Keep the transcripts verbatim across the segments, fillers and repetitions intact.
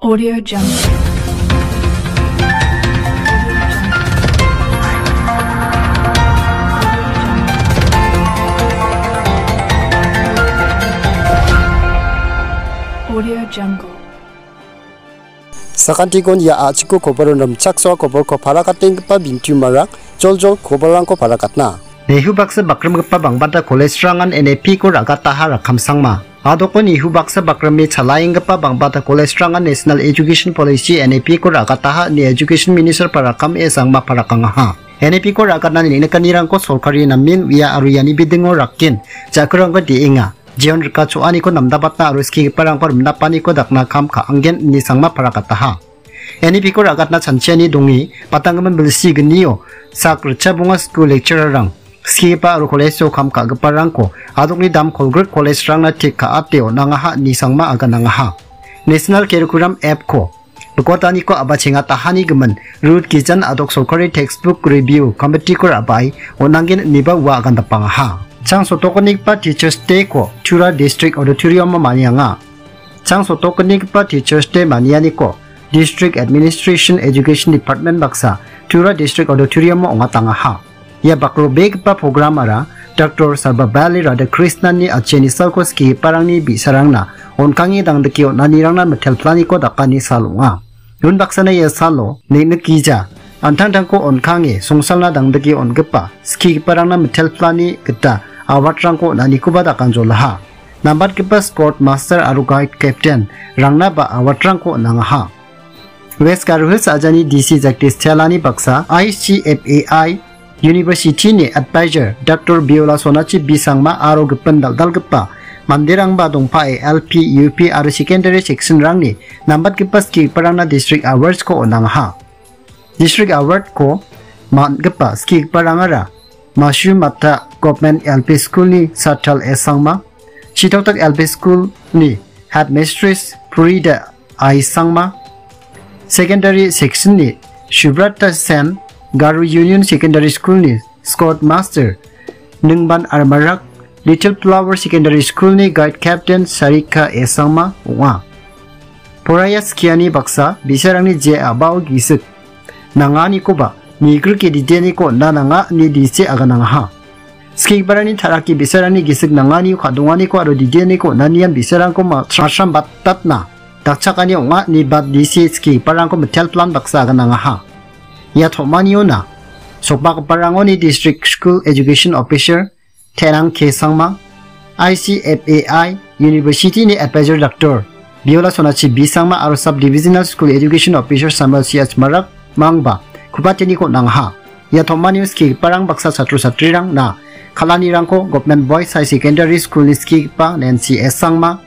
Audio Jungle. Audio Jungle. Sakantikon ia a·chiko koboro rimchaksoa koborko parakatenggipa bintiumarang joljol koborrangko parakatna. Nehu baksa bakrimgipa bangbata college-rangan N A P-ko ra·gataha rakkamsangma. Adoko Nehu baksa bakrimi chalaenggipa bangbata college-rangan National Education Policy, N A P-ko ra·gataha ine Education Minister parakam e sangma parakangaha. N A P-ko ra·gatna neng·nikanirangko sorkari namen uia aro iani bidingo rakken jakrangko de·enga. Jeon rika cho·aniko namdabatna aro skigiparangko rimdapaniko dakna kam ka·angen ine sangma parakataha. N A P-ko ra·gatna chanchiani donge, patanggimin bilsi gnio sak ritchabonga skul lecturer-rang, skigipa aro college-o kam ka·giparangko adokni dam kolgrik college-rangna tik ka·ate on·angaha ine sangma aganangaha. National Curriculum Act-ko bikotaniko a·bachengatahani gimin Ruth Gijan adok sorkari textbook review committee-ko ra·bae on·angen ineba ua agandapangaha. Chang sotokonigipa Teachers Day-ko Tura District Auditorium-o manianga. Chang sotokonigipa Teachers Day manianiko District Administration Education Department baksa Tura District Auditorium-o ong·atangaha. Ia bakrobegipa programara Doctor Sarvepalli Radhakrishnan-ni acheni salko skigiparangni bi·sarangna on·kange dangdike on·anirangna mitelplaniko dakani sal ong·a. Unbaksana ia salo neng·nikgija, an·tangtangko on·kange songsalna dangdike on·gipa skigiparangna mitelplani gita award-rangko on·anikoba dakanjolaha. Nambatgipa Scout Master aro Guide Captain-rangnaba award-rangko on·angaha. West Garo Hills ajani D C Jagdish Chelani baksa I C F A I University-ni advisor Doctor Biola Sonachi Bisangma aro gipin dal·dalgipa manderangba dongpae L P, U P aro secondary section-rangni nambatgipa skigiparangna District Awards-ko on·angaha. District Award-ko man·gipa skigiparangara Mashu Mata Government L P School-ni Sathal S Sangma, Chitoktak L P School-ni Headmistress Purida I Sangma, Secondary Section-ni Subrata Sen, Garo Union Secondary School-ni Scout Master Ningban Armarak, Little Flower Secondary School-ni Guide Captain Sarika S Sangma ong·a. Poraiya skiani baksa bi·sarangni je a·bao gisik nanganikoba migrike dideniko on·na nanga ine D C aganangaha. Skigiparangni ta·rake bi·sarangni gisik nanganio ka·donganiko aro dideniko on·anian bi·sarangko ma-, masrambatatna dakchakani ong·a ine ba D C skigiparangko mitelplan baksa aganangaha. Ia tom·aniona sokbagiparangoni District School Education Officer Tenang K Sangma, I C F A I University-ni Advisor Doctor Biola Sonachi Bisangma aro Sub Divisional School Education Officer Samuel C H Marak mangba kupateniko on·angaha. Ia tom·anio skigiparang baksa chatro chatrirangna kal·anirangko Government Boys High Secondary School-ni skigipa Nancy S Sangma,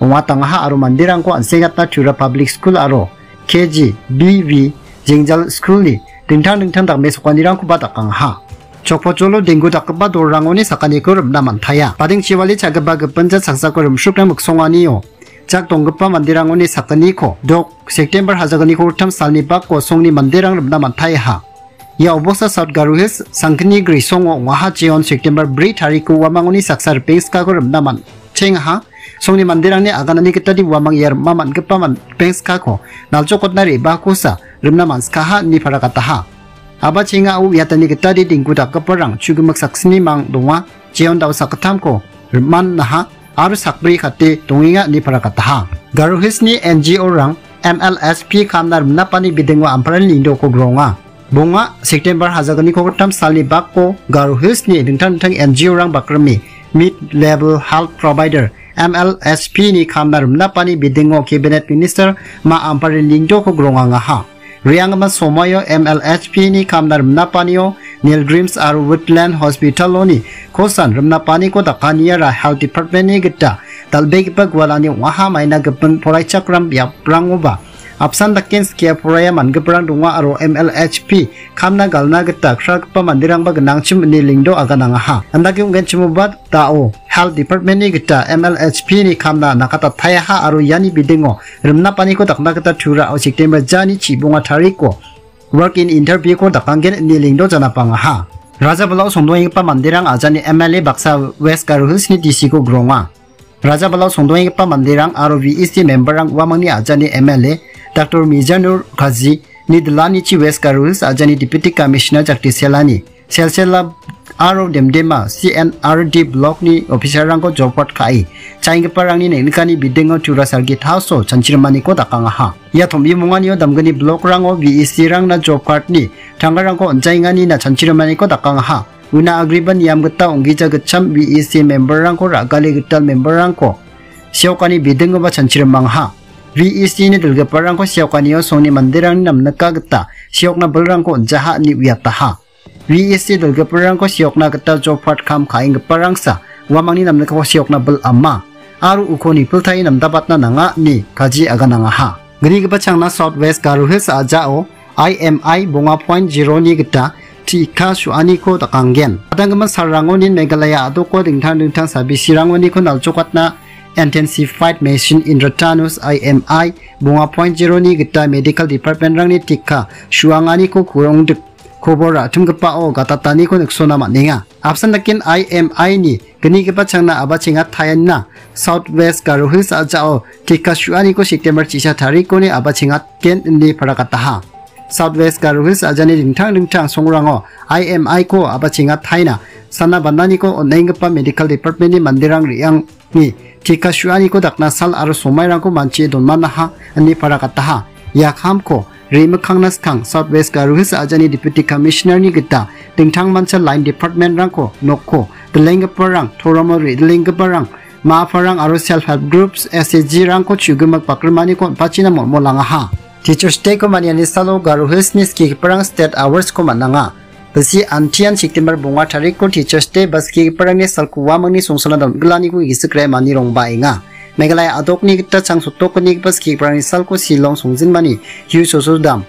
ong·atangaha aro manderangko an·sengatna Tura Public School aro K G B V Jengjal School-ni dingtang dingtang dakmesokanirangkoba dakangaha. Chokpojolo denggu dakgipa dolrangoni sakaniko rimna man·taia. Bading chiwali cha·gipa gipin jat saksako rimsrikna miksonganio jak donggipa manderangoni sakaniko dok September hajagniko gittam salni bako songni manderang rimna man·taiaha. Ia obosta South Garo Hills Sangkini Grisongo ong·aha jeon September bri tariko uamangoni saksa ripengskako rimna man-, chengaha. Songni manderangni aganani gitade uamang ia rima man·gipa man-, ripengskako naljokotna re·bakosa rimna man·skaha ine parakataha. Aba chengao uiatani gitade denggu dakgiparang chu·gimik saksini mang donga, jeon da·o sakgittamko rim·annaha aro sakbri kate dongenga ine parakataha. Garo Hills-ni N G O-rang M L S P kamna rimnapani bidingo amparani lingdoko gronga. Bonga September hajagniko gittam salni bako Garo Hills-ni dingtang dingtang N G O-rang bakrime Mid Level Health Provider, M L S P-ni kamna rimnapani bidingo Cabinet Minister Ma Amparini Lingdoko grongangaha. Re·anggipa somoio M L S P-ni kamna rimnapanio Nilgrims aro Woodland Hospital-oni kosan rimnapaniko dakaniara Health Department-ni gita dal·begipa gualani ong·aha. Maina gipin poraichakram biaprangoba apsan daken skie poraia man·giparang donga aro M L S P kamna galna gita kragipa manderangba gnangchim ine Lingdo aganangaha. Andake ong·genchimoba da·o Health Department-ni gita M L S P-ni kamna nakatataiaha aro iani bidingo rimnapaniko dakna gita Turao September jani chibonga tariko walk-in interview-ko dakanggen ine Lingdo janapangaha. Rajabalao songdoenggipa manderang ajani M L A baksa West Garo Hills-ni D C-ko gronga. Rajabalao songdoenggipa manderang aro V E C member-rang uamangni ajani M L A Doctor Mizanur Kaji ni dilanichi West Garo Hills ajani Deputy Commissioner Jagdish Selani, Selsela aro Demdema C N R D block-ni officer-rangko job card ka·e, chaenggiparangni neng·nikani bidingo tura salgit house-o chanchirimaniko dakangaha. Ia tombimonganio damgni block-rango V E C-rangna job card-ni tanggarangko on·jaenganina chanchirimaniko dakangaha. Una agreba niam gita ong·gija gitcham V E C member-rangko ra·gale gital member-rangko seokani bidingoba chanchirimangaha. V E C-ni dilgiparangko seokanio songni manderangni namnika gita seokna bilrangko on·jaha ine uiataha. V E C dilgiparangko seokna gita job card kam ka·enggiparangsa uamangni namnikako seokna bil ama aro uko nipiltae namdabatna nanga ine kaji aganangaha. Gnigipa changna South West Garo Hills a·jao I M I bonga point zero-ni gita tika su·aniko dakanggen. Gadanggimin salrangonin Meghalaya a·doko dingtang dingtang sabisirangoniko nalchokatna Intensified Mission Indradhanush I M I bonga point zero-ni gita medical department-rangni tika su·anganiko kurongdik kobor ra·timgipao gatataniko niksona man·enga. Apsan daken I M I-ni gnigipa changna abachengat taenna South West Garo Hills a·jao tika su·aniko September chisa tarikoni abachengatgen ine parakataha. South West Garo Hills a·jani dingtang dingtang songrango I M I-ko abachengat taina sana bananiko on·enggipa medical department-ni manderang re·ang ni tika su·aniko dakna sal aro somairangko manchie donmanaha ine parakataha. Ia kamko re·mikkangna skang South West Garo Hills a·jani Deputy Commissioner-ni gita dingtangmancha line department-rangko nokko dilenggiparang, toromo re·dilenggiparang, ma·aparang aro self help groups, S H G-rangko chu·gimik bakrimaniko on·pachina molmolangaha. Teachers Day-ko maniani salo Garo Hills-ni skigiparang State Awards-ko man·anga. Bilsi antian September bonga tarikko Teachers Day ba skigiparangni salko uamangni songsalna dal·gilaniko gisik re·mani rongbaenga. Meghalaya a·dokni gita chang sotokgnigipa skigiparangni salko Shillong songjinmani Hugh Sosodam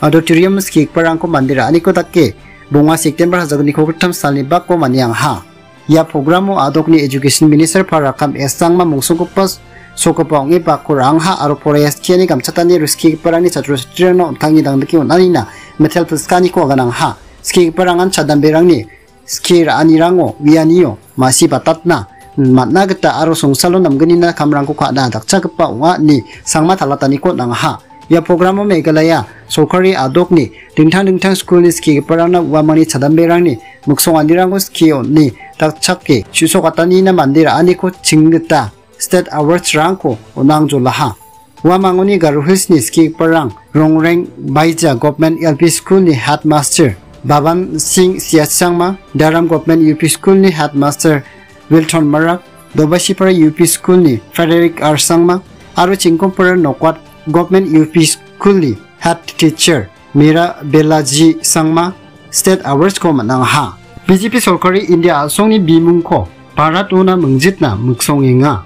Auditorium skigiparangko mande ra·aniko dake bonga September hajalgniko gittam salni bako maniangha. Ia programo a·dokni Education Minister Parakam S Sangma mungsonggipa sokgipa ong·e bako ra·angha aro poraiaskiani gamchatani ruskigiparangni chatro chatrirangna on·tangni dangdike on·anina metel pilskaniko aganangha. Skigiparangan chadamberangni skie ra·anirango uianio masi batatna man·na gita aro songsalo namgnina kamrangko ka·na dakchakgipa ong·a ine Sangma talataniko on·angaha. Ia programo Meghalaya sorkari a·dokni dingtang dingtang skulni skigiparangna uamangni chadamberangni miksonganirangko skie on·e dakchake chu·sokatanina mande ra·aniko chinggita State Awards-rangko on·angjolaha. Uamangoni Garo Hills-ni skigiparang Rongreng Baija Government L P School-ni Headmaster Baban Singh Siachangma, Daram Government U P School-ni Headmaster Wilton Marak, Dobasipara U P School-ni Frederick R Sangma, aro Chingkompara Nokwat Government U P School-ni Head Teacher Mira Belaji Sangma State Awards-ko man·angaha. B J P sorkari India a·songni bimungko Bharat-ona mingjitna miksongenga.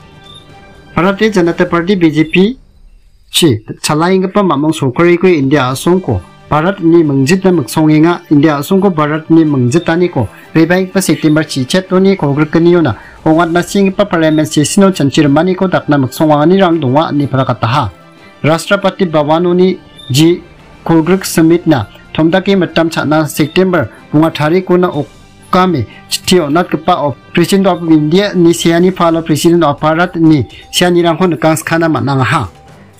Bharatiya Janata Party B J P chi chalaenggipa mamung sorkariko India a·songko Bharat-ni mingjitna miksongenga. India a·songko Bharat-ni mingjitaniko rebaenggipa September chichetoni kolgrikgniona ong·atna senggipa parliament session-o chanchi rimaniko dakna miksonganirang donga ine parakataha. Rashtrapati Bhavan-oni G kolgrik Summit-na tomdake mitam cha·na September bonga tarikona okame chitti on·atgipao President of India-ni seani palo President of Bharat-ni seanirangko nikangskana man·angaha.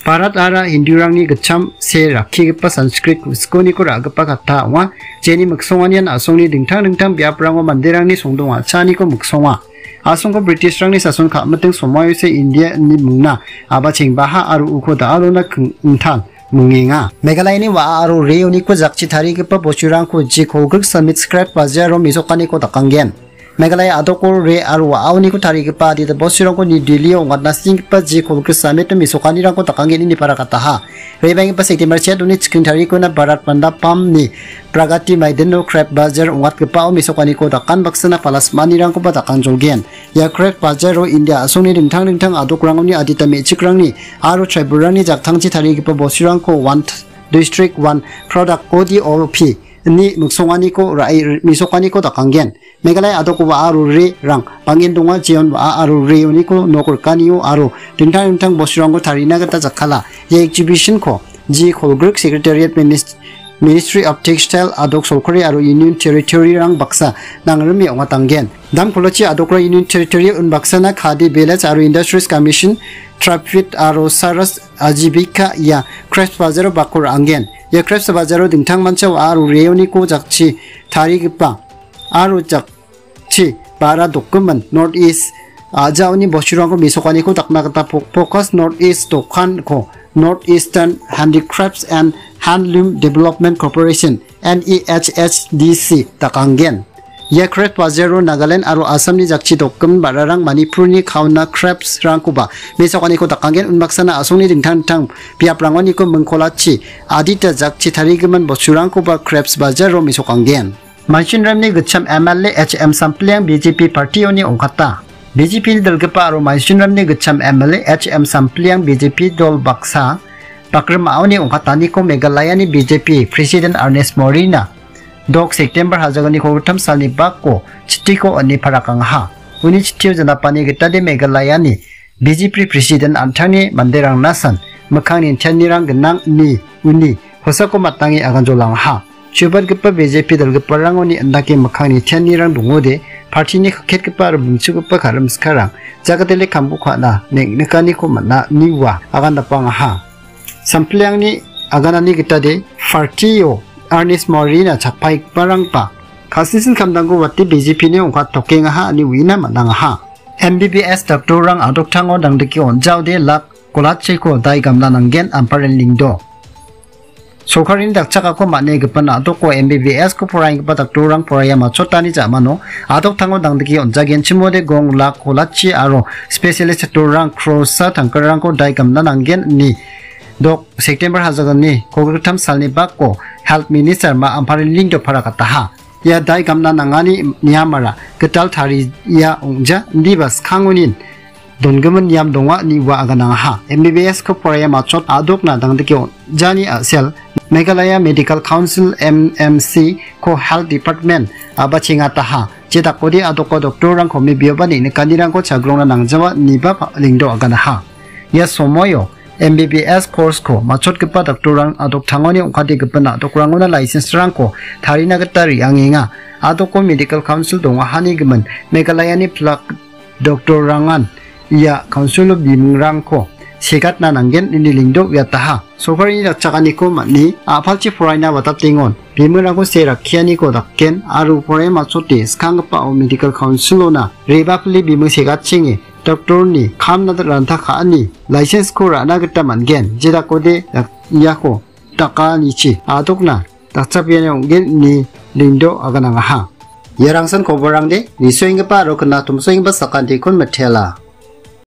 Bharat-ara Hindurangni gitcham see rakkigipa Sanskrit skoniko ra·gipa katta ong·a, jeni miksonganian a·songni dingtang dingtang biaprango manderangni songdong a·chaaniko miksonga. A·songko British-rangni sason ka·miting somoiose India-ni mingna abachengbaha aro uko da·alona king-, ingtal mingenga. Meghalayani wa·a aro reoniko jakchi tarigipa bosturangko G kolgrik Summit Scrap Bazaar-o mesokaniko dakanggen. Meghalaya a·doko re aro wa·aoniko tarigipa adita bosturangko New Delhi-o ong·atna senggipa G kolgrik Summit-o mesokanirangko dakanggen ine parakataha. Rebaenggipa September chetoni chiking tarikona Bharat Mandapam-ni Pragati Maidano Scrap Bazaar ong·atgipao mesokaniko dakan baksana palasmanirangkoba dakangjolgen. Ia Scrap Bazaar-o India a·songni dingtang dingtang a·dokrangoni adita me·chikrangni aro tribal-rangni jaktangchi tarigipa bosturangko One District One Product O D O P-ni miksonganiko ra·e mesokaniko dakanggen. Meghalaya a·doko wa·a aro re-rang bang·en donga, jeon wa·a aro reoniko nok rikanio aro dingtang dingtang bosturangko tarina gita jakkala. Ia exhibition-ko G kolgrik Secretariat Minis-, Ministry of Textile, a·dok sorkari aro Union Territory-rang baksa nangrime ong·atanggen. Dam kolochi a·dokra Union Territory unbaksana Khadi Village aro Industries Commission, Traffic aro Saras Ajibika ia Crafts Bazar-o bako ra·angen. Ia Crafts Bazar-o dingtangmancha wa·a aro reoniko jakchi tarigipa aro jakchi ba·ra dokgimin North East a·jaoni bosturangko mesokaniko dakna gita Fo-, Focus North East dokanko North Eastern Handicrafts and Handloom Development Corporation, N E H H D C, dakangen. Ia Crafts Bazar-o Nagaland aro Assamni jakchi dokgimin ba·rarang Manipurni kauna crafts-rangkoba mesokaniko dakangen. Unbaksana a·songni dingtang dingtang biaprangoniko mingkolachi adita jakchi tarigimin bosturangkoba Crafts Bazar-o mesokangen. Manshinramni gitcham M L A H M Sampliang B J P party-oni ong·kata. B J P-ni dilgipa aro Manshinramni gitcham M L A H M Sampliang B J P dol baksa bakrimaoni ong·kataniko Meghalayani B J P President Ernest Morina dok September hajaganiko gittam salni bako chitiko on·e parakangaha. Uni chitio janapani gitade Meghalayani B J P President an·tangni manderangnasan mikkang nitianirang gnang ine uni kosako matnange aganjolangaha. Chubatgipa B J P dalgiparangoni indake mikkang nitianirang dongode, party-ni kaketgipa aro bingchugipa karim sikarang jagatele kambu ka·na neng·nikaniko man·a ine ua agandapangaha. Sampliangni aganani gitade party-o Ernest Morina chakpaigiparangba ka·sisin kamdangko wate B J P-ni ong·katokengaha ine uina man·angaha. M B B S doctor-rang a·doktango dangdike on·jaode lak kolachiko dai gamna nanggen, Amparin Lyngdoh. Sorkarini dakchakako man·e gipin a·doko M B B S-ko poraienggipa doctor-rang poraia matchotani ja·mano a·doktango dangdike on·jagenchimode gong lak kolachi aro specialist doctor-rang krosa tangkarangko dai gamna nanggen ine dok September hajaganni kolgrittam salni bako Health Minister Ma Amparin Lyngdoh parakataha. Ia dai gamna nangani niamara gital taria ong·ja, indiba skangonin donggimin niam donga ine ua aganangaha. M B B S-ko poraia matchot a·dokna dangdike on·jani a·sel Meghalaya Medical Council, M M C-ko Health Department a·bachengataha. Jedakode a·doko doctor-rangko mibioba neng·nikanirangko chagrongna nangjawa ineba pa-, Lyngdoh aganaha. Ia somoio M B B S course-ko matchotgipa doctor-rang a·doktangoni ong·kate gipin a·dokrangona license-rangko tarina gita re·angenga. A·doko Medical Council dongahani gimin Meghalayani plak doctor-rangan ia council-o bimingrangko segatna nanggen ine Lyngdoh uiataha. Sorkarini dakchakaniko man·e a·palchi poraina watatengon bimingrangko see rakkianiko dakgen aro poraia matchote skanggipao Medical Council-ona re·bapile biming segatchenge doctor-ni kam ranta ka·ani license-ko ra·na gita man·gen. Jedakode dak-, iako dakanichi a·dokna dakchakbeani ong·gen ine Lyngdoh aganangaha. Ia rangsan koborangde nisoenggipa aro knatomsoenggipa sakantikon mitela.